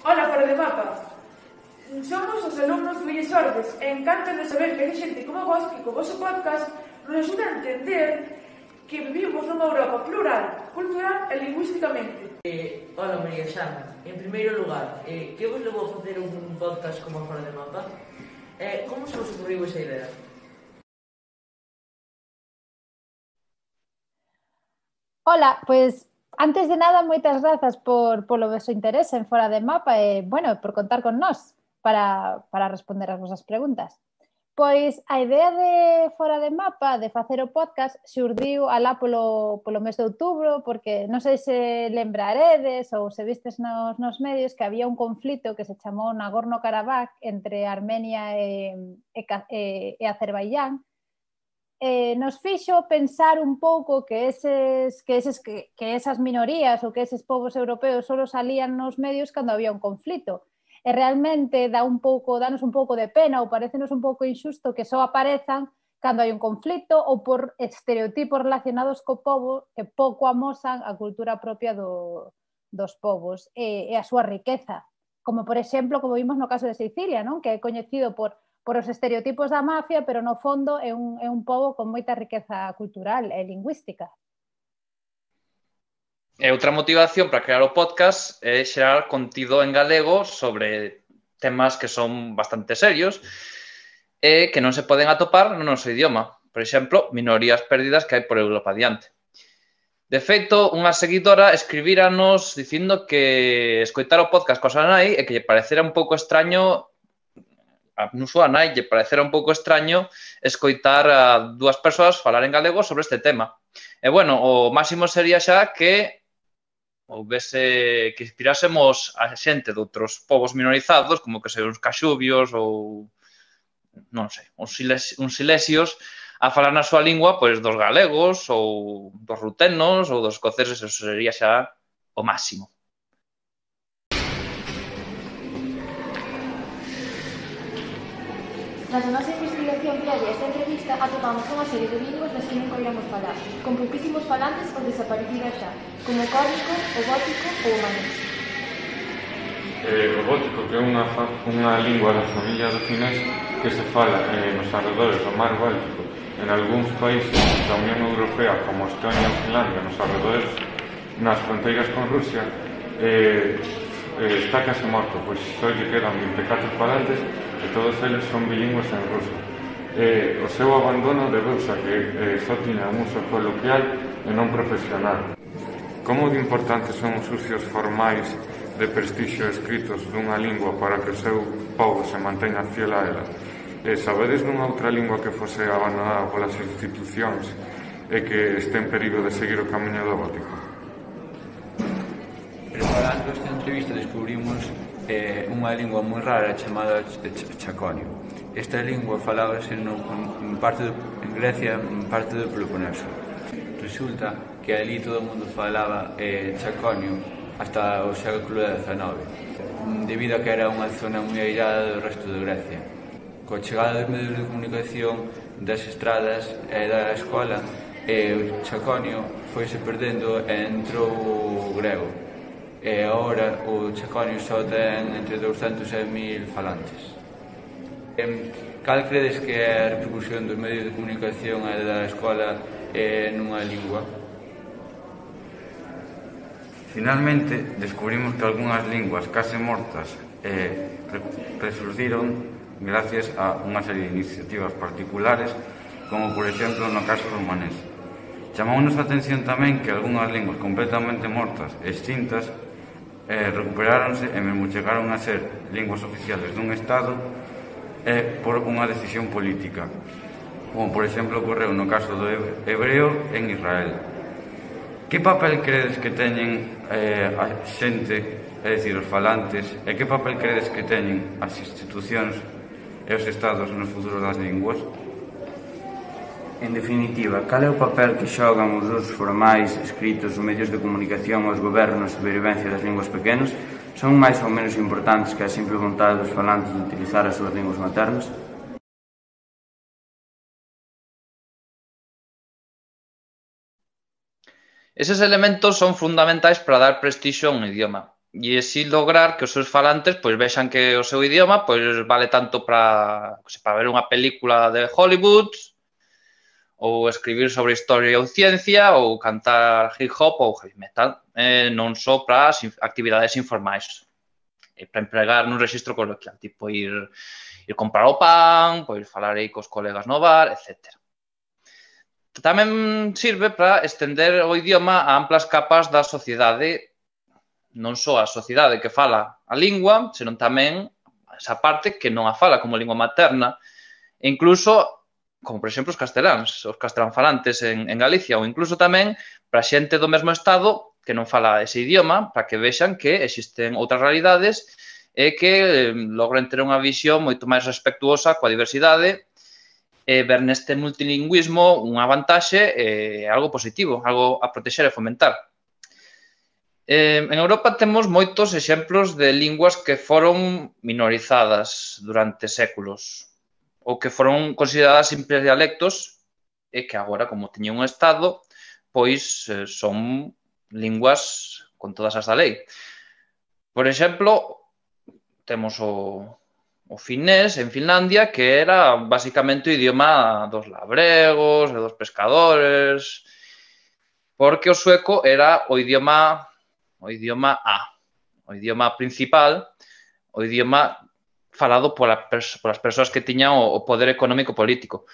Ola, fora de mapa. Somos os alumnos do Illes Ordes e encanta de saber que hai xente como vos que co vosso podcast nos ajuda a entender que vivimos nunha Europa plural, cultural e lingüísticamente. Hola, María Xana. En primeiro lugar, que vos levou a facer un podcast como Fora de Mapa? Como se vos ocurriu esa idea? Ola, pois antes de nada, moitas grazas polo vosso interese en Fora de Mapa e, bueno, por contar con nós para responder as vosas preguntas. Pois a idea de Fora de Mapa, de facer o podcast, xurdiu alá polo mes de outubro, porque non sei se lembraredes ou se vistes nos medios que había un conflito que se chamou Nagorno-Karabakh entre Armenia e Azerbaiyán, nos fixo pensar un pouco que esas minorías ou que eses povos europeos só salían nos medios cando había un conflito. E realmente danos un pouco de pena ou parecenos un pouco injusto que só aparezan cando hai un conflito ou por estereotipos relacionados co pobo que pouco amosan a cultura propia dos povos e a súa riqueza. Como, por exemplo, como vimos no caso de Sicilia, non? Que é coñecido por os estereotipos da mafia, pero no fondo é un pobo con moita riqueza cultural e lingüística. E outra motivación para crear o podcast é xerar contido en galego sobre temas que son bastante serios e que non se poden atopar no noso idioma. Por exemplo, minorías perdidas que hai por Europa adiante. De feito, unha seguidora escribíranos dicindo que escoitar o podcast coa súa nai e que lle parecera un pouco extraño a súa nai lle parecera un pouco extraño escoitar a dúas persoas falar en galego sobre este tema. E, bueno, o máximo sería xa que houvese que inspirásemos a xente de outros povos minorizados, como que sei, uns caxubios ou, non sei, uns silesios, a falar na súa lingua, pois, dos galegos ou dos rutenos ou dos escoceses, eso sería xa o máximo. Tras a nosa investigación previa a esta entrevista, atopamos unha serie de linguas das que nunca oíramos falar, con pouquísimos falantes ou desaparecidas xa, como o córnico, o gótico ou o manés. O gótico, que é unha lingua da familia do finés que se fala nos arredores do mar Báltico, en algúns países da Unión Europea, como Estonia ou Finlandia, nos arredores, nas fronteiras con Rusia, está case morto, pois só lle quedan 24 falantes e todos eles son bilingües en ruso. O seu abandono debeuse a que só tiña un uso coloquial e non profesional. Como de importantes son os usos formais de prestixio escritos dunha lingua para que o seu povo se manteña fiel a ela? Sabedes dunha outra lingua que fose abandonada polas institucións e que este en perigo de seguir o camiño do gótico? Preparando esta entrevista descubrimos unha lingua moi rara chamada chaconio. Esta lingua falábase en Grecia, en parte do Peloponeso. Resulta que ali todo o mundo falaba chaconio hasta o século XIX, debido a que era unha zona moi airada do resto de Grecia. Coa chegada dos medios de comunicación, das estradas e da escola, o chaconio foise perdendo e entrou o grego. E agora o chaconio só ten entre 200 e 1000 falantes. Cal credes que é a repercusión dos medios de comunicación e da escola nunha lingua? Finalmente, descubrimos que algunhas linguas case mortas resurdiron gracias a unha serie de iniciativas particulares, como por exemplo no caso do manés. Chamounos a atención tamén que algunhas linguas completamente mortas e extintas recuperáronse e mesmo chegaron a ser linguas oficiales dun Estado por unha decisión política, como por exemplo ocorreu no caso do hebreo en Israel. Que papel credes que teñen a xente, é dicir, os falantes, e que papel credes que teñen as institucións e os Estados no futuro das linguas? En definitiva, cal é o papel que xogan os usos formais, escritos, os medios de comunicación e os gobernos na supervivencia das linguas pequenas? Son máis ou menos importantes que a simple vontade dos falantes de utilizar as súas linguas maternas? Eses elementos son fundamentais para dar prestixio a un idioma. e así lograr que os seus falantes pois vexan que o seu idioma pois vale tanto para ver unha película de Hollywood ou escribir sobre historia ou ciencia ou cantar hip hop ou heavy metal, non só para as actividades informais, para empregar nun registro coloquial, tipo ir comprar o pan, pois falar aí cos colegas no bar, etc. Tamén sirve para estender o idioma a amplas capas da sociedade, non só a sociedade que fala a lingua, senón tamén esa parte que non a fala como lingua materna, e incluso como, por exemplo, os castelán falantes en Galicia, ou incluso tamén para xente do mesmo estado que non fala ese idioma, para que vexan que existen outras realidades e que logren ter unha visión moito máis respectuosa coa diversidade e ver neste multilingüismo unha vantaxe e algo positivo, algo a protexer e fomentar. En Europa temos moitos exemplos de linguas que foron minorizadas durante séculos, ou que foron consideradas simples dialectos e que agora, como teñen un estado, pois son linguas con todas as da lei. Por exemplo, temos o finés en Finlandia, que era basicamente o idioma dos labregos e dos pescadores, porque o sueco era o idioma A, o idioma principal, o idioma falado polas persoas que tiñan o poder económico político.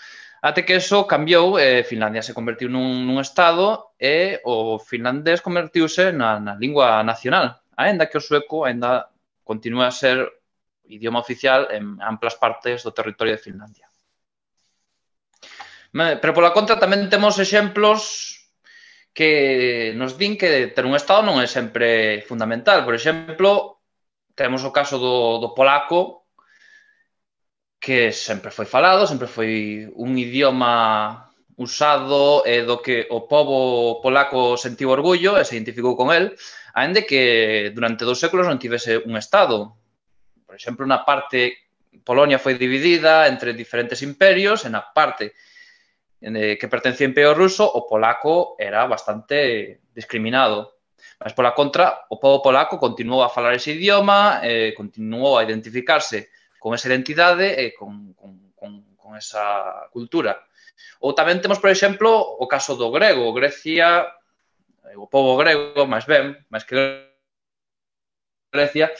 Até que eso cambiou, Finlandia se convertiu nun estado e o finlandés convertiuse na lingua nacional, aínda que o sueco aínda continúa a ser idioma oficial en amplas partes do territorio de Finlandia. Pero pola contra tamén temos exemplos que nos din que ter un estado non é sempre fundamental. Por exemplo, temos o caso do polaco, que sempre foi falado, sempre foi un idioma usado e do que o pobo polaco sentiu orgullo e se identificou con el, aínda que durante 2 séculos non tivese un estado. Por exemplo, na parte Polonia foi dividida entre diferentes imperios e na parte que pertencía ao Imperio Ruso o polaco era bastante discriminado. Mas pola contra, o pobo polaco continuou a falar ese idioma, continuou a identificarse con esa identidade e con esa cultura. Ou tamén temos, por exemplo, o caso do grego. Grecia, o pobo grego, máis que Grecia,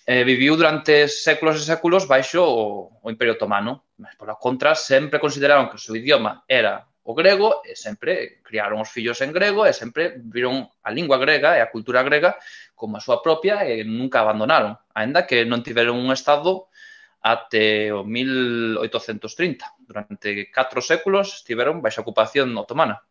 viviu durante séculos e séculos baixo o Imperio Otomano. Mas, pola contra, sempre consideraron que o seu idioma era o grego e sempre criaron os fillos en grego e sempre viron a lingua grega e a cultura grega como a súa propia e nunca abandonaron, aínda que non tiveron un estado até o 1830. Durante 4 séculos estiveron baixo a ocupación otomana.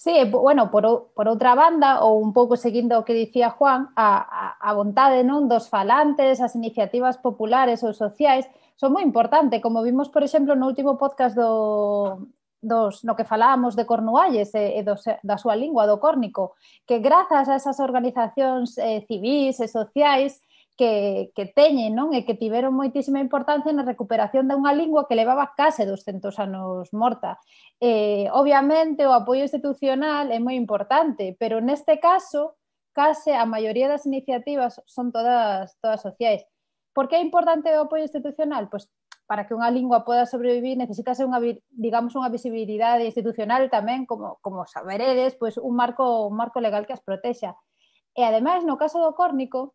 Sí, bueno, por outra banda, ou un pouco seguindo o que dicía Juan, a vontade non dos falantes, as iniciativas populares ou sociais son moi importantes, como vimos, por exemplo, no último podcast no que falábamos de Cornualles e da súa lingua, do córnico, que grazas a esas organizacións civís e sociais que teñen, non? E que tiveron moitísima importancia na recuperación dunha lingua que levaba case 200 anos morta. Obviamente, o apoio institucional é moi importante, pero neste caso, case a maioría das iniciativas son todas sociais. Por que é importante o apoio institucional? Pois para que unha lingua poda sobrevivir necesita ser unha visibilidade institucional tamén, como saberedes, pois un marco legal que as protexa. E ademais, no caso do córnico,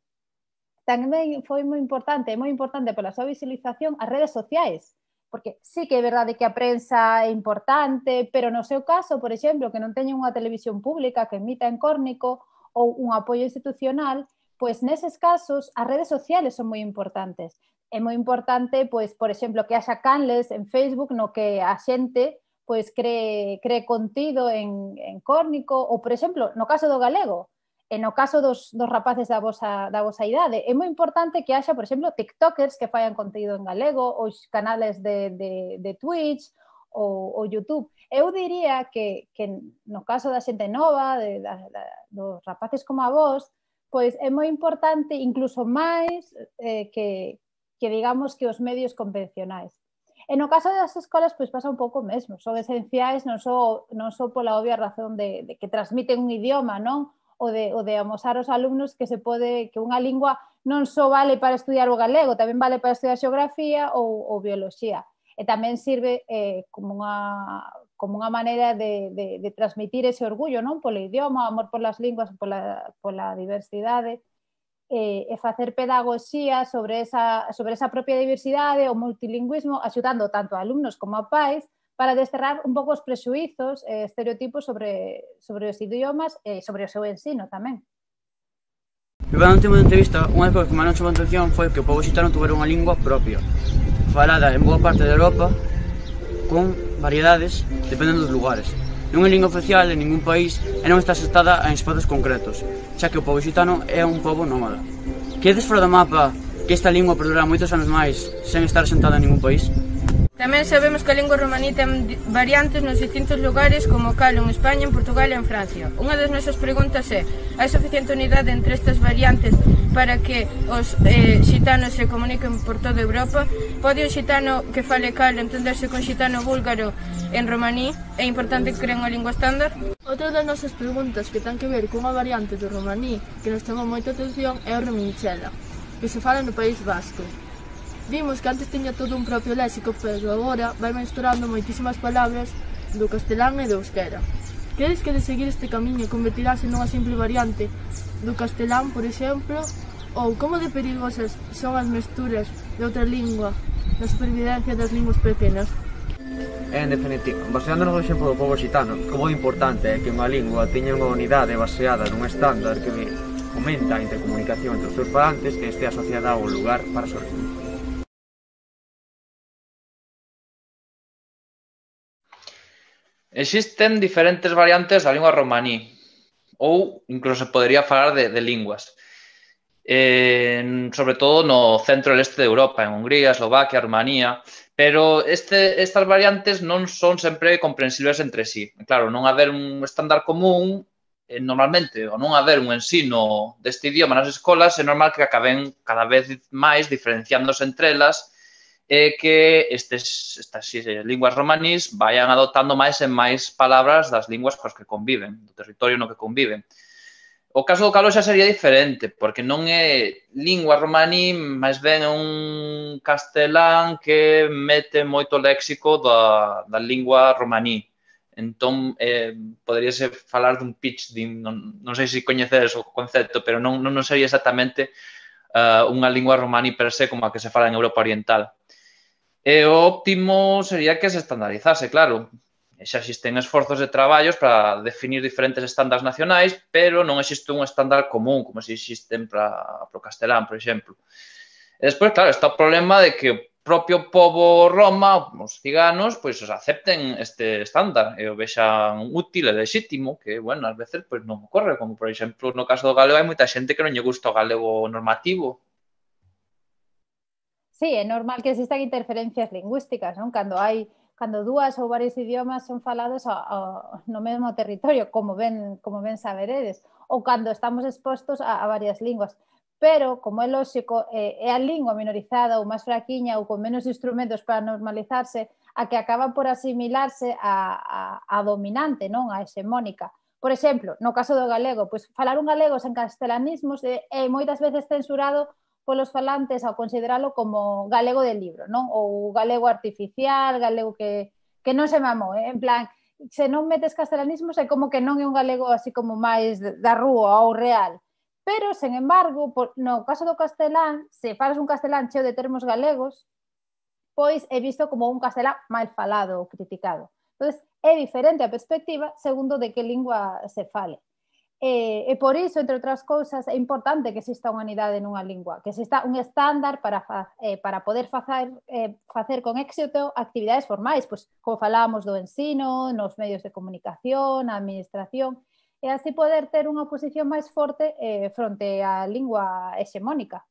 tamén foi moi importante pola súa visualización as redes sociais, porque sí que é verdade que a prensa é importante, pero no seu caso, por exemplo, que non teñen unha televisión pública que emita en córnico ou un apoio institucional, pois neses casos as redes sociales son moi importantes. É moi importante, pois, por exemplo, que haxa canles en Facebook no que a xente pois cree contido en córnico, ou, por exemplo, no caso do galego, e no caso dos rapaces da vosa idade, é moi importante que haxa, por exemplo, tiktokers que faian contido en galego, ou canales de Twitch ou YouTube. Eu diría que no caso da xente nova, dos rapaces como a vos, pois é moi importante, incluso máis que digamos que os medios convencionais. E no caso das escolas, pois pasa un pouco mesmo, son esenciais non só pola obvia razón de que transmiten un idioma, non? o de amosar aos alumnos que unha lingua non só vale para estudiar o galego, tamén vale para estudiar xeografía ou bioloxía. E tamén sirve como unha maneira de transmitir ese orgullo, non? Polo idioma, amor polas linguas, pola diversidade, e facer pedagogía sobre esa propia diversidade, o multilingüismo, axudando tanto a alumnos como a pais para desterrar un pouco os prexuizos e estereotipos sobre os idiomas e sobre o seu ensino tamén. Durante unha entrevista, unha das cousas que máis nos chamou a atención foi que o pobo occitano tuvera unha lingua propia, falada en boa parte de Europa, con variedades dependendo dos lugares. Non é lingua oficial en ningún país e non está asentada en espazos concretos, xa que o pobo occitano é un pobo nómada. Quedes fora do mapa que esta lingua perdurará moitos anos máis sen estar asentada en ningún país? Tamén sabemos que a lingua romaní ten variantes nos distintos lugares como cal en España, en Portugal e en Francia. Unha das nosas preguntas é: hai suficiente unidade entre estas variantes para que os xitanos se comuniquen por toda Europa? Pode o xitano que fale cal entenderse con xitano búlgaro en romaní? É importante que creen unha lingua estándar? Outra das nosas preguntas que ten que ver cunha variante do romaní que nos chamou moita atención é o romanchela, que se fala no País Vasco. Vimos que antes tiña todo un propio léxico, pero agora vai mesturando moitísimas palabras do castelán e do euskera. Credes que de seguir este camiño convertirase nunha simple variante do castelán, por exemplo? Ou como de perigosas son as mesturas de outra lingua na supervivencia das linguas pequenas? En definitiva, baseándonos no exemplo do pobo occitano, como é importante é que unha lingua teña unha unidade baseada nun estándar que fomenta a intercomunicación entre os seus falantes que este asociada ao lugar para sobrevivir. Existen diferentes variantes da lingua romaní, ou incluso se podría falar de linguas. Sobre todo no centro e leste de Europa, en Hungría, Eslovaquia, Rumanía, pero estas variantes non son sempre comprensibles entre sí. Claro, non haber un estándar común, normalmente, ou non haber un ensino deste idioma nas escolas, é normal que acaben cada vez máis diferenciándose entre elas e que estas linguas romanís vayan adoptando máis e máis palabras das linguas cos que conviven, do territorio no que conviven. O caso do calo xa sería diferente, porque non é lingua romaní, máis ben é un castelán que mete moito léxico da lingua romaní. Entón, poderíase falar dun pitch, non sei se coñecedes o concepto, pero non sería exactamente unha lingua romaní per se como a que se fala en Europa Oriental. E o óptimo sería que se estandarizase, claro. Xa existen esforzos de traballos para definir diferentes estándares nacionais, pero non existe un estándar común, como se existen para o castelán, por exemplo. E despois, claro, está o problema de que o propio pobo roma, os ciganos, pois acepten este estándar e o vexan útil e lexítimo, que, bueno, ás veces non ocorre, como, por exemplo, no caso do galego hai moita xente que non lle gusta o galego normativo. Sí, é normal que existan interferencias lingüísticas, non? Cando dúas ou varios idiomas son falados no mesmo territorio, como ben saberedes, ou cando estamos expostos a varias linguas. Pero, como é lóxico, é a lingua minorizada ou máis fraquiña ou con menos instrumentos para normalizarse a que acaba por asimilarse a dominante, non? A hexemónica. Por exemplo, no caso do galego, pois falar un galego sen castelanismos é moitas veces censurado polos falantes ao consideralo como galego de libro, non? Ou galego artificial, galego que non se mamou, en plan, se non metes castelanismos é como que non é un galego así como máis da rúa ou real. Pero, sen embargo, no caso do castelán, se falas un castelán cheo de termos galegos, pois é visto como un castelán mal falado ou criticado. Entón, é diferente a perspectiva segundo de que lingua se fale. E por iso, entre outras cousas, é importante que exista unha unidade nunha lingua, que exista un estándar para poder facer con éxito actividades formais, pois, como falábamos do ensino, nos medios de comunicación, na administración, e así poder ter unha posición máis forte fronte á lingua hexemónica.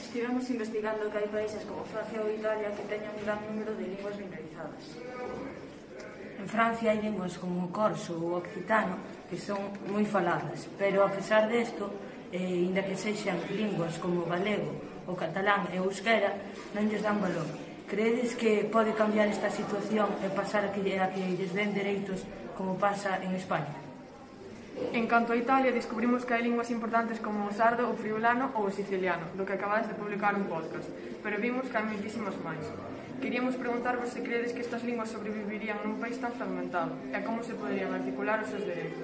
Estivemos investigando que hai países como Francia ou Italia que teñen un gran número de linguas minorizadas. En Francia hai linguas como o corso ou o occitano que son moi faladas, pero a pesar desto, inda que sexan linguas como o galego, o catalán e o euskera, non lles dan valor. Creedes que pode cambiar esta situación e pasar a que lles den dereitos como pasa en España? En canto a Italia, descubrimos que hai linguas importantes como o sardo, o friulano ou o siciliano, do que acabades de publicar un podcast, pero vimos que hai moitísimas máis. Queríamos preguntarvos se credes que estas linguas sobrevivirían nun país tan fragmentado e como se poderían articular os seus dereitos.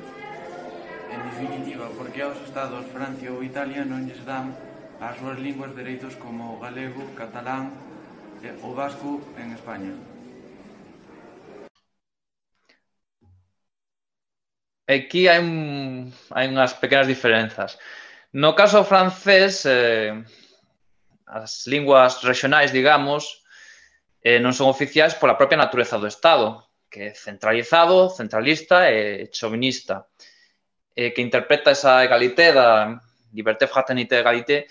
En definitiva, porque aos estados Francia ou Italia non lles dan ás súas linguas dereitos como o galego, catalán e o vasco en España. Aquí hai unhas pequenas diferenzas. No caso francés, as linguas regionais, digamos, non son oficiais pola propia natureza do Estado, que é centralizado, centralista e chauvinista, que interpreta esa egalité da liberté, fraternité, egalité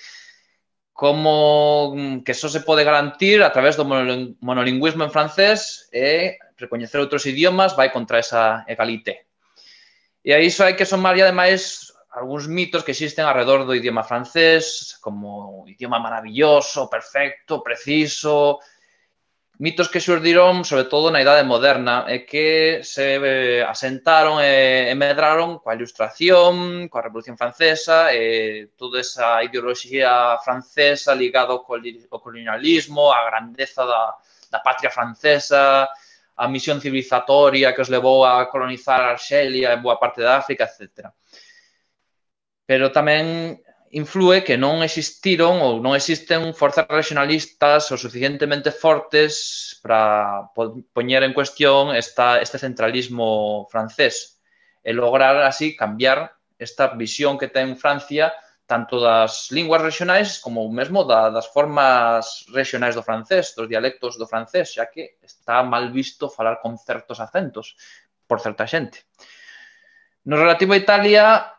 como que só se pode garantir a través do monolingüismo en francés e recoñecer outros idiomas vai contra esa egalité. E a iso hai que somar, ademais, algúns mitos que existen alrededor do idioma francés, como idioma maravilloso, perfecto, preciso, mitos que xurdiron, sobre todo, na Idade Moderna e que se asentaron e medraron coa Ilustración, coa Revolución Francesa e toda esa ideoloxía francesa ligada ao colonialismo, á grandeza da patria francesa, a misión civilizatoria que os levou a colonizar Arxelia e boa parte da África, etc. Pero tamén influe que non existiron ou non existen forzas regionalistas o suficientemente fortes para poñer en cuestión este centralismo francés e lograr así cambiar esta visión que ten Francia tanto das linguas regionais como mesmo das formas regionais do francés, dos dialectos do francés, xa que está mal visto falar con certos acentos por certa xente. No relativo a Italia,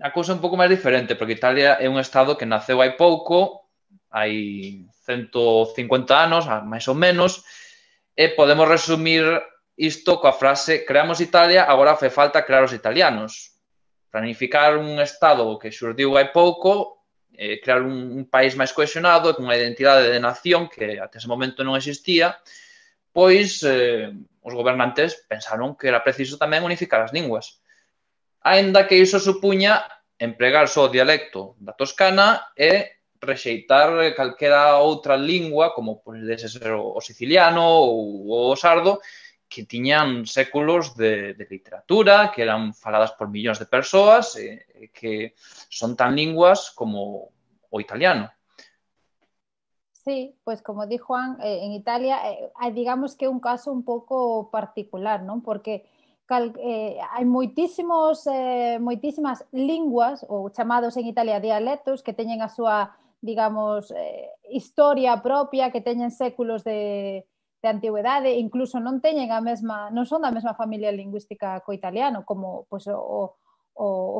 a cousa é un pouco máis diferente, porque Italia é un estado que naceu hai pouco, hai 150 anos, máis ou menos, e podemos resumir isto coa frase creamos Italia, agora fe falta crear os italianos. Planificar un estado que xurdiu hai pouco, crear un país máis cohesionado, con unha identidade de nación que até ese momento non existía, pois os gobernantes pensaron que era preciso tamén unificar as linguas. Aínda que iso supuña empregar só o dialecto da Toscana e rexeitar calquera outra lingua, como pode ser o siciliano ou o sardo, que tiñan séculos de literatura, que eran faladas por millóns de persoas, que son tan linguas como o italiano. Sí, pues como di Juan, en Italia digamos que é un caso un pouco particular, non? Porque hai moitísimas linguas, ou chamados en Italia dialectos, que teñen a súa, digamos, historia propia, que teñen séculos de antigüedade, incluso non teñen non son da mesma familia lingüística co italiano, como pues, o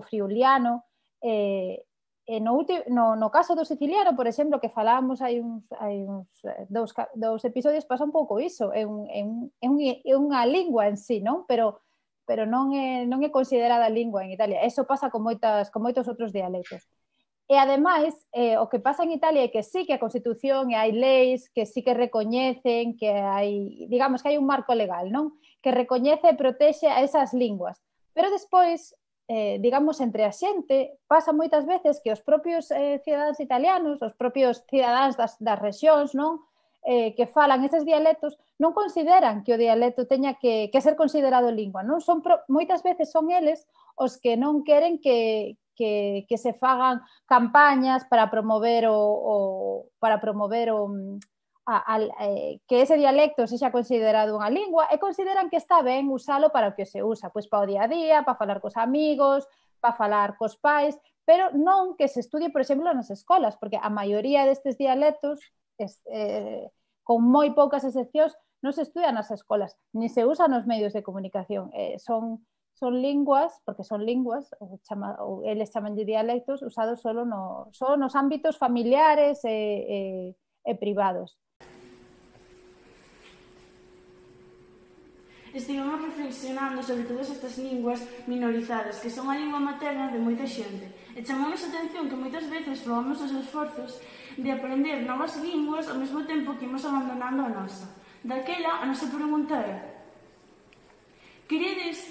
friuliano. No caso do siciliano, por exemplo, que falábamos hai uns dous episodios, pasa un pouco iso, é unha lingua en sí, non? Pero non é considerada lingua en Italia. Eso pasa con moitos outros dialectos. E, ademais, o que pasa en Italia é que sí que a Constitución e hai leis que sí que recoñecen que hai, digamos, que hai un marco legal, non? Que recoñece e protexe a esas linguas. Pero despois, digamos, entre a xente, pasa moitas veces que os propios cidadáns italianos, os propios cidadáns das rexións, non? Que falan eses dialectos, non consideran que o dialecto teña que ser considerado lingua, non? Moitas veces son eles os que non queren que se fagan campañas para promover que ese dialecto sexa considerado unha lingua e consideran que está ben usalo para o que se usa, pois para o día a día, para falar cos amigos, para falar cos pais, pero non que se estudie, por exemplo, nas escolas, porque a maioría destes dialectos, con moi poucas excepcións, non se estudian nas escolas, ni se usan nos medios de comunicación, son linguas, porque son linguas, ou eles chaman de dialectos, usados só nos ámbitos familiares e privados. estivemos reflexionando sobre todas estas linguas minorizadas, que son a lingua materna de moita xente. E chamamos a atención que moitas veces probamos os esforzos de aprender novas linguas ao mesmo tempo que imos abandonando a nosa. Daquela, a nosa pregunta é: credes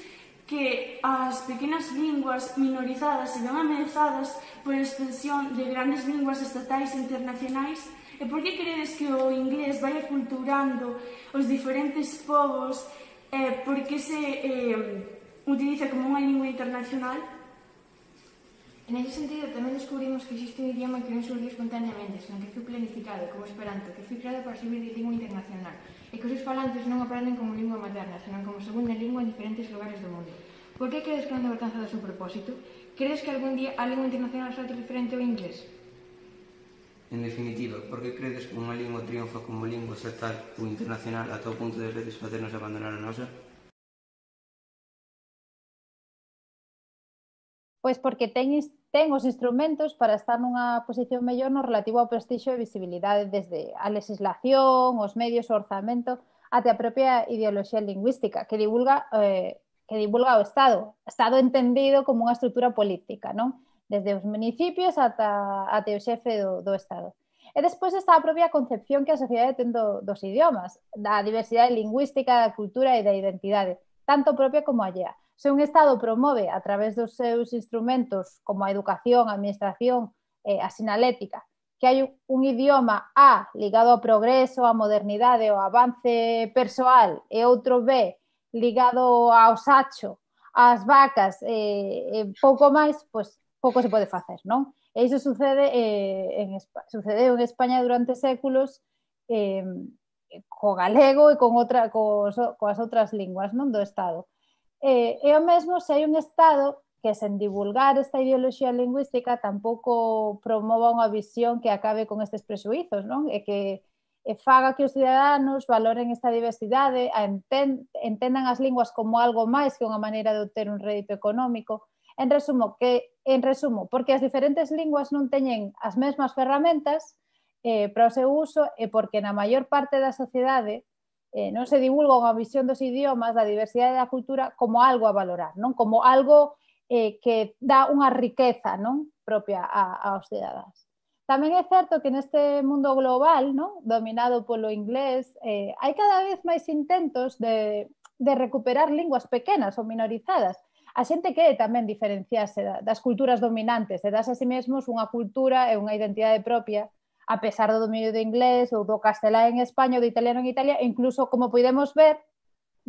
que as pequenas linguas minorizadas se ven ameazadas por extensión de grandes linguas estatais e internacionais? E por que credes que o inglés vai aculturando os diferentes povos e por que se utiliza como unha lingua internacional? En ese sentido, tamén descubrimos que existe un idioma que non surgiu espontaneamente, senón que foi planificado, como Esperanto, que foi creado para servir de lingua internacional, e que os seus falantes non aprenden como lingua materna, senón como segunda lingua en diferentes lugares do mundo. Por que credes que non debe alcanzado o seu propósito? Credes que algún día a lingua internacional será diferente ao inglés? En definitiva, por que credes que unha lingua triunfa como lingua estatal ou internacional ata o punto de veces facernos abandonar a nosa? Pois porque ten os instrumentos para estar nunha posición mellor no relativo ao prestixio e visibilidade, desde a legislación, os medios, o orzamento, até a propia ideoloxía lingüística que divulga o Estado entendido como unha estrutura política, non? Desde os municipios até o xefe do Estado. E despois está a propia concepción que a sociedade ten dos idiomas, da diversidade lingüística, da cultura e da identidade, tanto propia como allea. Se un Estado promove a través dos seus instrumentos como a educación, a administración, a sinalética, que hai un idioma A ligado ao progreso, á modernidade, ao avance persoal, e outro B ligado ao sacho, ás vacas e pouco máis, pois pouco se pode facer, non? E iso sucedeu en España durante séculos co galego e coas outras linguas, non, do Estado. E o mesmo se hai un Estado que sen divulgar esta ideoloxía lingüística tampouco promova unha visión que acabe con estes prexuízos, non? E que faga que os ciudadanos valoren esta diversidade, entendan as linguas como algo máis que unha maneira de obter un rédito económico. En resumo, porque as diferentes linguas non teñen as mesmas ferramentas para o seu uso e porque na maior parte da sociedade non se divulga unha visión dos idiomas, da diversidade da cultura, como algo a valorar, non? Como algo que dá unha riqueza, non, propia aos cidadáns. Tamén é certo que neste mundo global, non, dominado polo inglés, hai cada vez máis intentos de recuperar linguas pequenas ou minorizadas. A xente quere tamén diferenciarse das culturas dominantes e darse a si mesmos unha cultura e unha identidade propia, a pesar do dominio do inglés ou do castelán en España ou do italiano en Italia, e incluso, como podemos ver,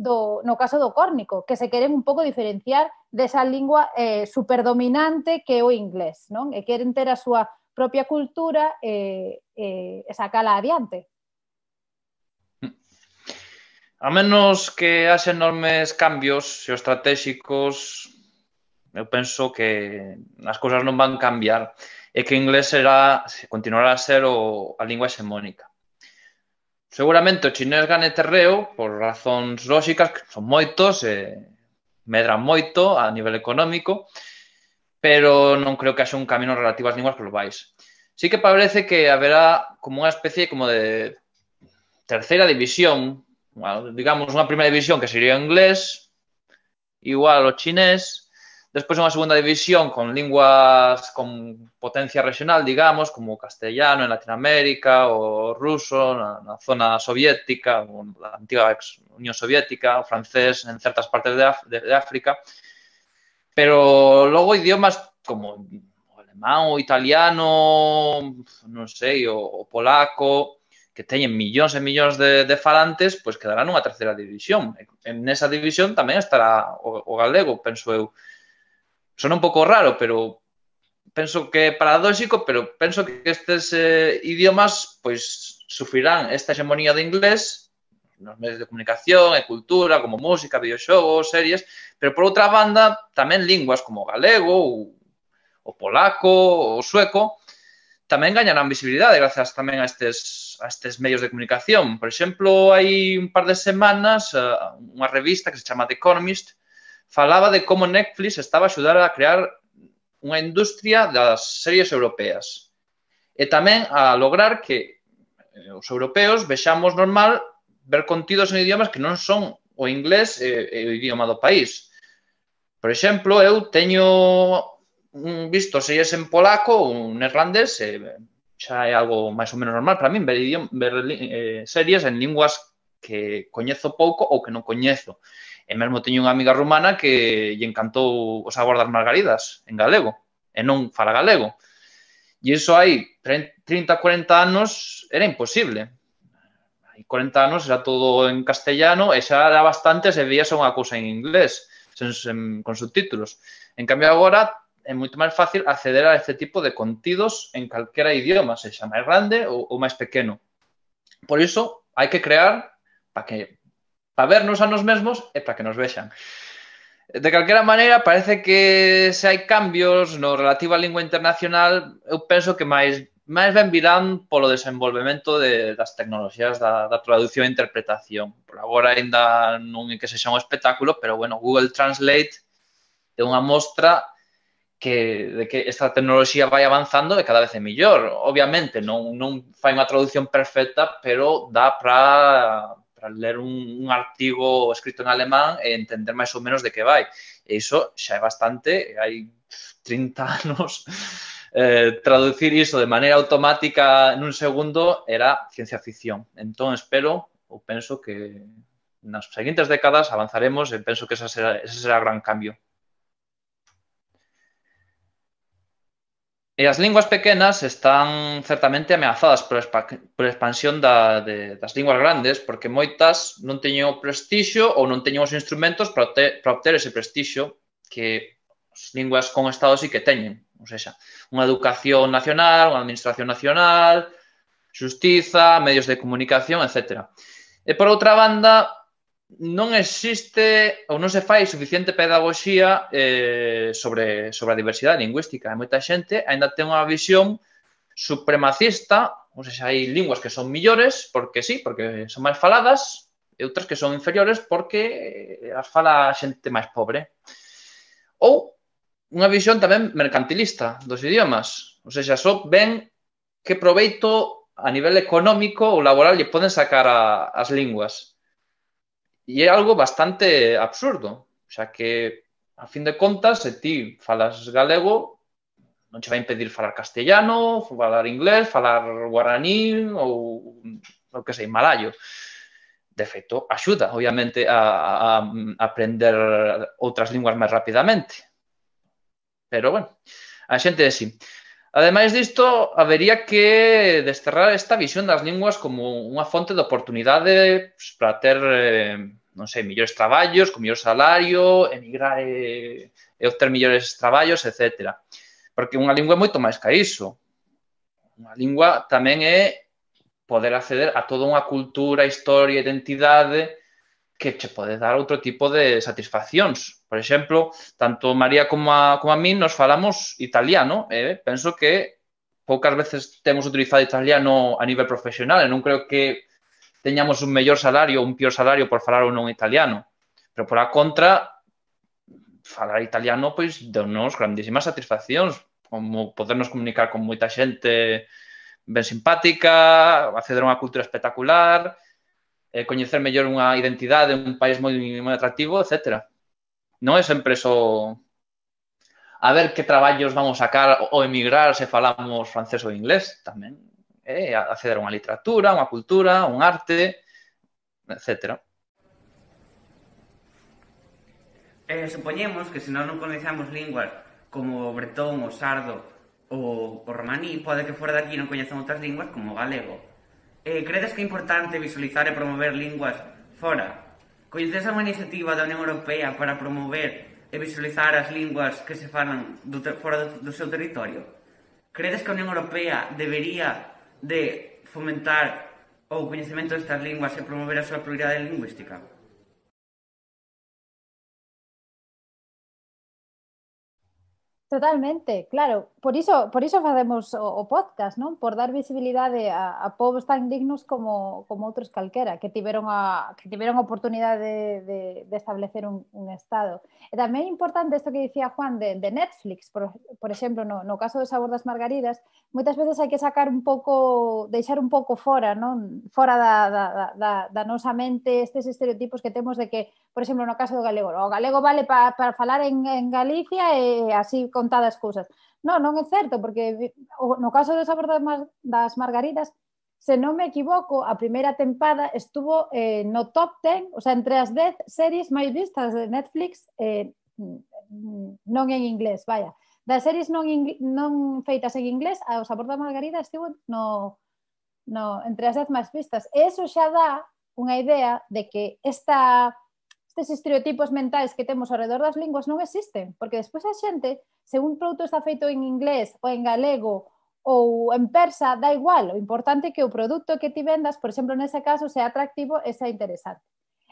no caso do córnico, que se queren un pouco diferenciar desa lingua superdominante que é o inglés, non? E queren ter a súa propia cultura e sacala adiante. A menos que haxe enormes cambios xeoestratégicos, eu penso que as cousas non van cambiar e que o inglés continuará a ser a lingua hexemónica. Seguramente o chinés gane terreo por razóns lóxicas, que son moitos e medran moito a nivel económico, pero non creo que haxe un camino relativo ás linguas globais. Sí que parece que haberá como unha especie como de terceira división, digamos unha primeira división que sería o inglés, igual o chinés, despois unha segunda división con linguas con potencia regional, digamos, como o castellano en Latinoamérica, o ruso na zona soviética, ou na antiga Unión Soviética, o francés en certas partes de África, pero logo idiomas como o alemán, o italiano, non sei, o polaco, que teñen millóns e millóns de falantes, pois quedará nunha terceira división. En esa división tamén estará o galego, penso eu. Sona un pouco raro, pero penso que é paradóxico, pero penso que estes idiomas pois sufrirán esta hegemonía do inglés nos medios de comunicación e cultura, como música, videoxogos, series, pero por outra banda tamén linguas como o galego, o polaco, o sueco, tamén gañarán visibilidade grazas tamén a estes medios de comunicación. Por exemplo, hai un par de semanas unha revista que se chama The Economist falaba de como Netflix estaba a axudar a crear unha industria das series europeas e tamén a lograr que os europeos vexamos normal ver contidos en idiomas que non son o inglés é o idioma do país. Por exemplo, eu teño visto series en polaco ou neerlandés, xa é algo máis ou menos normal para min ver series en linguas que coñezo pouco ou que non coñezo. E mesmo teño unha amiga rumana que lle encantou O sabor das margaridas en galego, e non fala galego. E iso hai 30, 40 anos era imposible. Hai 40 anos era todo en castellano e xa era bastante se veíase unha cousa en inglés, con subtítulos. En cambio, agora é moito máis fácil acceder a este tipo de contidos en calquera idioma, sexa máis grande ou máis pequeno. Por iso, hai que crear para vernos a nos mesmos e para que nos vexan. De calquera maneira, parece que se hai cambios no relativo á lingua internacional, eu penso que máis ben virán polo desenvolvemento das tecnoloxías da traducción e interpretación. Por agora ainda non é que sexa un espectáculo, pero, bueno, Google Translate é unha mostra de que esta tecnoloxía vai avanzando e cada vez é mellor. Obviamente, non fai unha traducción perfecta, pero dá para ler un artigo escrito en alemán e entender máis ou menos de que vai. E iso xa é bastante, hai 30 anos, traducir iso de maneira automática nun segundo era ciencia ficción. Entón, espero ou penso que nas seguintes décadas avanzaremos e penso que ese será o gran cambio. E as linguas pequenas están certamente ameazadas por a expansión das linguas grandes, porque moitas non teñen o prestixio ou non teñen os instrumentos para obter ese prestixio que as linguas con Estado sí que teñen. Ou seja, unha educación nacional, unha administración nacional, xustiza, medios de comunicación, etc. E, por outra banda, non existe ou non se fai suficiente pedagogía sobre a diversidade lingüística. Moita xente ainda ten unha visión supremacista, ou seja, hai linguas que son millores porque sí, porque son máis faladas, e outras que son inferiores porque as fala xente máis pobre. Ou unha visión tamén mercantilista dos idiomas, ou seja, só ven que proveito a nivel económico ou laboral lle poden sacar as linguas. E é algo bastante absurdo, xa que, a fin de contas, se ti falas galego, non che vai impedir falar castellano, falar inglés, falar guaraní ou, o que sei, malayo. De feito, axuda, obviamente, a aprender outras linguas máis rapidamente. Pero, bueno, a xente é así. Ademais disto, habería que desterrar esta visión das linguas como unha fonte de oportunidade para ter non sei, millores traballos, con mellor salario, emigrar e obter millores traballos, etc. Porque unha lingua é moito máis que iso. Unha lingua tamén é poder acceder a toda unha cultura, historia, identidade que che pode dar outro tipo de satisfaccións. Por exemplo, tanto María como a min nos falamos italiano e penso que poucas veces temos utilizado italiano a nivel profesional e non creo que teñamos un mellor salario ou un pior salario por falar ou non italiano. Pero, por a contra, falar italiano, pois, deu-nos grandísimas satisfaccións, como podernos comunicar con moita xente ben simpática, acceder a unha cultura espectacular, coñecer mellor unha identidade, un país moi atractivo, etc. Non é sempre só a ver que traballos vamos sacar ou emigrar se falamos francés ou inglés, tamén acceder a unha literatura, unha cultura, un arte, etc. Supoñemos que se nós non coñecemos linguas como o bretón, o sardo ou o romaní, pode que fora daqui non coñezan outras linguas como o galego. Credes que é importante visualizar e promover linguas fora? Coñeces unha iniciativa da Unión Europea para promover e visualizar as linguas que se falan fora do seu territorio? Credes que a Unión Europea debería de fomentar o coñecemento destas linguas e promover a súa pluralidade lingüística? Totalmente, claro. Por iso facemos o podcast, non? Por dar visibilidade a povos tan dignos como outros calquera, que tiveron a oportunidade de establecer un Estado. E tamén é importante isto que dicía Juan de Netflix, por exemplo, no caso do Sabor das Margaridas, moitas veces hai que sacar un pouco, deixar un pouco fora, non? Fora da nosa mente estes estereotipos que temos de que, por exemplo, no caso do galego, o galego vale para falar en Galicia e así contadas cousas. Non é certo, porque no caso do Sabor das Margaridas, se non me equivoco, a primeira tempada estuvo no top 10, o sea, entre as 10 series máis vistas de Netflix, non en inglés, vaya. Das series non feitas en inglés, o Sabor da Margarida estivo entre as 10 máis vistas. E iso xa dá unha idea de que estes estereotipos mentais que temos ao redor das linguas non existen, porque despois a xente, se un produto está feito en inglés ou en galego ou en persa, dá igual, o importante é que o produto que ti vendas, por exemplo, nese caso, sea atractivo e sea interesante.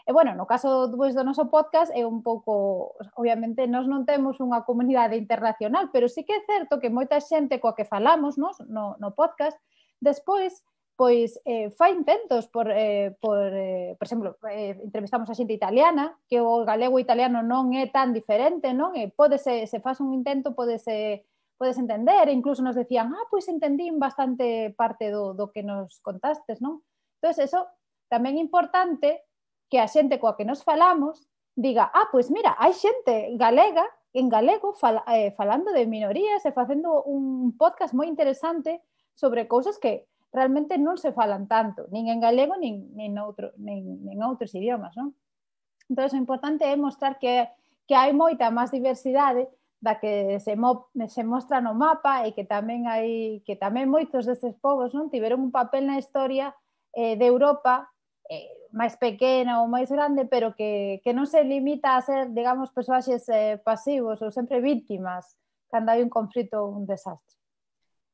E, bueno, no caso do noso podcast é un pouco, obviamente, nós non temos unha comunidade internacional, pero sí que é certo que moita xente coa que falamos no podcast, despois, pois, fai intentos por exemplo, entrevistamos a xente italiana, que o galego italiano non é tan diferente, non? E se faz un intento, podes entender, e incluso nos decían, pois entendín bastante parte do que nos contastes, non? Entón, eso tamén é importante que a xente coa que nos falamos diga, pois mira, hai xente galega en galego falando de minorías e facendo un podcast moi interesante sobre cousas que realmente non se falan tanto, nin en galego nin outros idiomas, non? Entón, o importante é mostrar que hai moita máis diversidade da que se mostra no mapa e que tamén moitos destes povos tiveron un papel na historia de Europa máis pequena ou máis grande, pero que non se limita a ser, digamos, persoaxes pasivos ou sempre víctimas cando hai un conflito ou un desastre.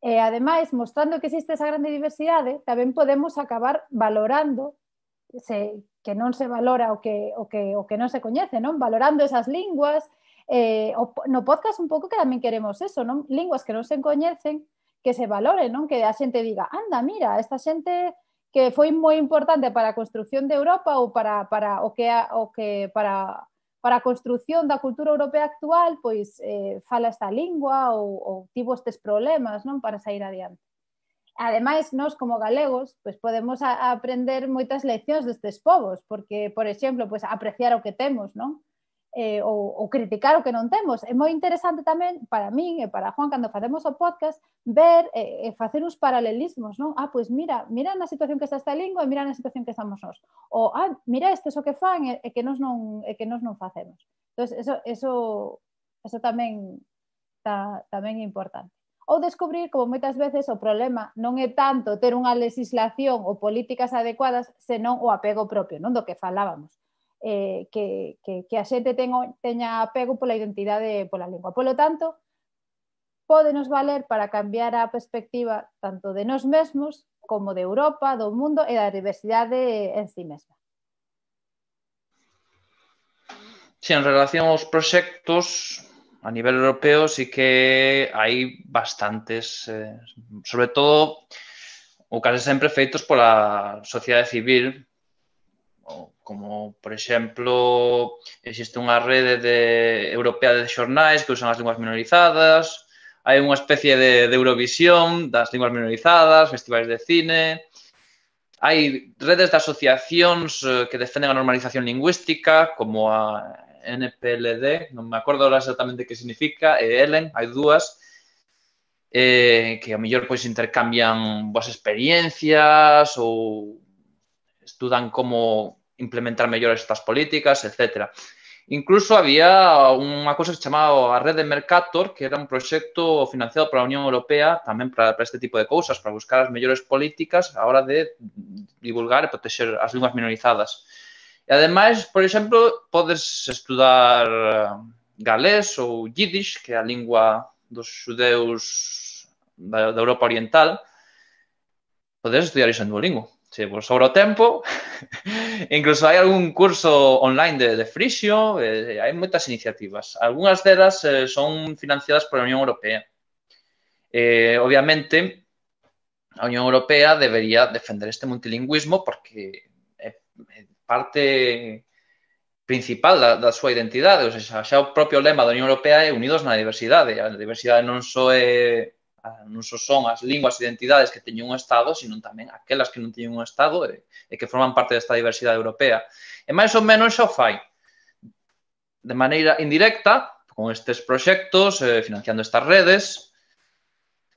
E, ademais, mostrando que existe esa grande diversidade, tamén podemos acabar valorando que non se valora o que non se coñece, non? Valorando esas linguas. No podcast un pouco que tamén queremos eso, non? Linguas que non se coñecen, que se valoren, non? Que a xente diga, anda, mira, esta xente que foi moi importante para a construción de Europa ou para a construción da cultura europea actual, pois fala esta lingua ou tivo estes problemas, non, para sair adiante. Ademais, nós como galegos, pois podemos aprender moitas leccións destes povos, porque, por exemplo, pois apreciar o que temos, non? Ou criticar o que non temos. É moi interesante tamén, para min e para Juan, cando facemos o podcast, ver e facer uns paralelismos, non? Pois mira na situación que está esta lingua e mira na situación que estamos nós. Ou, mira isto que fan e que nós non facemos. Entón, eso tamén é importante. Ou descubrir, como moitas veces, o problema non é tanto ter unha legislación ou políticas adecuadas, senón o apego propio, non? Do que falábamos. Que a xente teña apego pola identidade e pola lingua. Polo tanto, pódenos valer para cambiar a perspectiva tanto de nós mesmos como de Europa, do mundo e da diversidade en si mesma. Sí, en relación aos proxectos a nivel europeo sí que hai bastantes, sobre todo ou case sempre feitos pola sociedade civil, como, por exemplo, existe unha rede europea de xornais que usan as linguas minorizadas, hai unha especie de Eurovisión das linguas minorizadas, festivais de cine, hai redes de asociacións que defenden a normalización lingüística, como a NPLD, non me acordo exactamente que significa, e ELEN, hai dúas, que a mellor intercambian boas experiencias ou estudan como implementar mellor estas políticas, etc. Incluso había unha cousa que se chamaba a Rede Mercator, que era un proxecto financiado pola Unión Europea tamén para este tipo de cousas, para buscar as mellores políticas a hora de divulgar e protexer as linguas minorizadas. E, ademais, por exemplo, podes estudar galés ou yiddish, que é a lingua dos xudeus da Europa Oriental. Podes estudiar iso en Duolingo. se vos sobra o tempo, incluso hai algún curso online de frixio, hai moitas iniciativas. Algúnas delas son financiadas pola Unión Europea. Obviamente, a Unión Europea debería defender este multilingüismo porque é parte principal da súa identidade. O sea, xa o propio lema da Unión Europea é unidos na diversidade. A diversidade non só son as linguas e identidades que teñen un Estado, sino tamén aquelas que non teñen un Estado e que forman parte desta diversidade europea. E máis ou menos xa o fai de maneira indirecta con estes proxectos, financiando estas redes,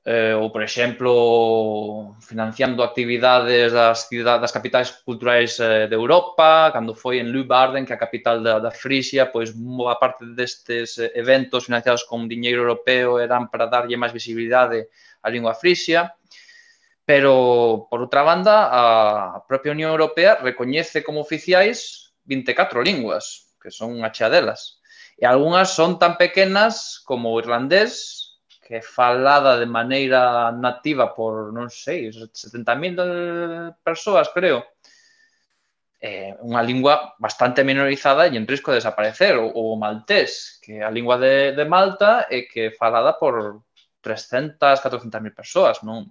ou, por exemplo, financiando actividades das capitais culturais de Europa, cando foi en Leeuwarden, que é a capital da Frisia, pois boa parte destes eventos financiados con diñeiro europeo eran para darlle máis visibilidade á lingua frisia, pero, por outra banda, a propia Unión Europea recoñece como oficiais 24 linguas, que son unha chea delas, e algunhas son tan pequenas como o irlandés, que é falada de maneira nativa por, non sei, 70.000 persoas, creo. É unha lingua bastante minorizada e en risco de desaparecer. O maltés, que é a lingua de Malta e que é falada por 300, 400.000 persoas, non?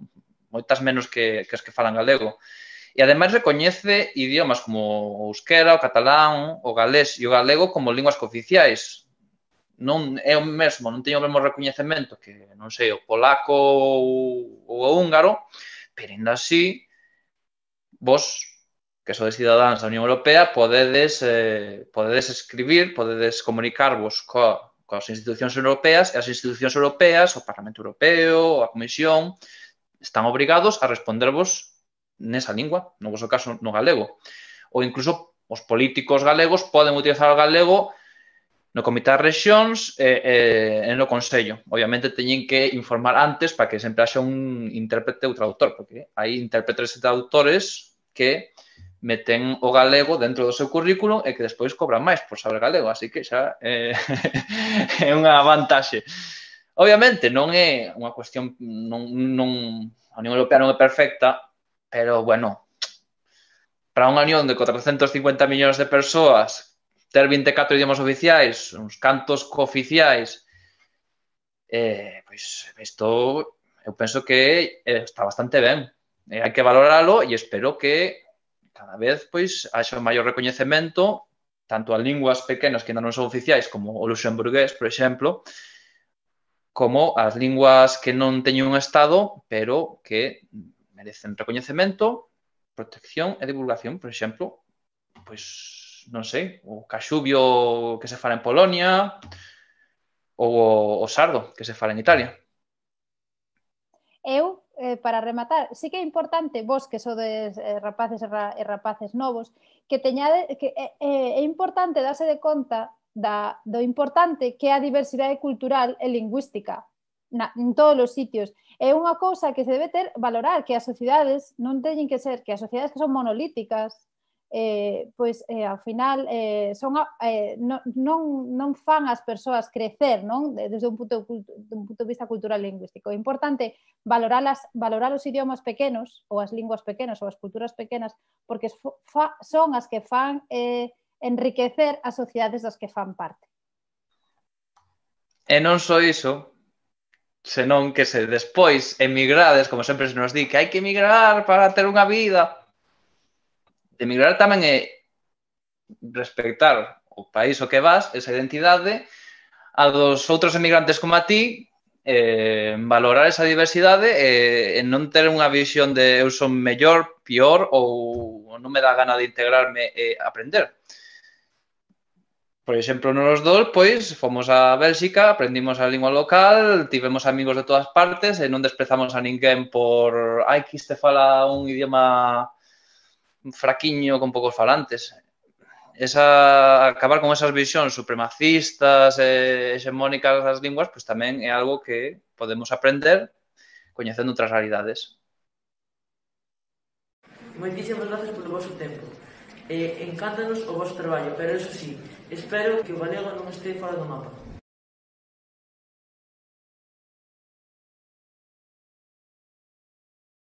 Moitas menos que as que falan galego. E, ademais, recoñece idiomas como o euskera, o catalán, o galés e o galego como linguas cooficiais. Non é o mesmo, non teño o mesmo recoñecemento que, non sei, o polaco ou o húngaro, pero, ainda así, vos, que sodes cidadáns da Unión Europea, podedes escribir, podedes comunicarvos coas institucións europeas, e as institucións europeas, o Parlamento Europeo, a Comisión, están obrigados a respondervos nesa lingua, no vosso caso, no galego. Ou, incluso, os políticos galegos poden utilizar o galego no Comité das Rexións e no Consello. Obviamente, teñen que informar antes para que sempre haxa un intérprete ou traductor, porque hai intérpretes e traductores que meten o galego dentro do seu currículum e que despois cobran máis por saber galego, así que xa é unha vantaxe. Obviamente, non é unha cuestión, a Unión Europea non é perfecta, pero, bueno, para unha unión de 450 millóns de persoas, ter 24 idiomas oficiais, uns cantos cooficiais, pois, isto, eu penso que está bastante ben. Hai que valoralo e espero que cada vez, pois, haxa un maior recoñecemento tanto a linguas pequenas que ainda non son oficiais, como o luxemburgués, por exemplo, como as linguas que non teñen un Estado, pero que merecen recoñecemento, protección e divulgación, por exemplo, pois, non sei, o caxubio que se fala en Polonia ou o sardo que se fala en Italia. Eu, para rematar, sí que é importante, vos que sodes rapaces e rapaces novos, que é importante darse de conta do importante que é a diversidade cultural e lingüística en todos os sitios. É unha cousa que se debe valorar, que as sociedades non teñen que ser, que as sociedades que son monolíticas, pois ao final non fan as persoas crecer, non? Desde un punto de vista cultural e lingüístico. É importante valorar os idiomas pequenos ou as linguas pequenas ou as culturas pequenas porque son as que fan enriquecer as sociedades das que fan parte. E non só iso, senón que se despois emigrades, como sempre se nos di, que hai que emigrar para ter unha vida. Emigrar tamén é respectar o país ao que vas, esa identidade, a dos outros emigrantes como a ti, valorar esa diversidade e non ter unha visión de eu son mellor, pior ou non me dá gana de integrarme e aprender. Por exemplo, nos dous, pois, fomos a Bélxica, aprendimos a lingua local, tivemos amigos de todas partes e non desprezamos a ninguén por que este fala un idioma fraquiño con poucos falantes. Acabar con esas visións supremacistas e hexemónicas das linguas, pois tamén é algo que podemos aprender coñecendo outras realidades. Moitísimas gracias polo vosso tempo. Encántanos o vosso traballo, pero eso sí, espero que o galego non este fora do mapa.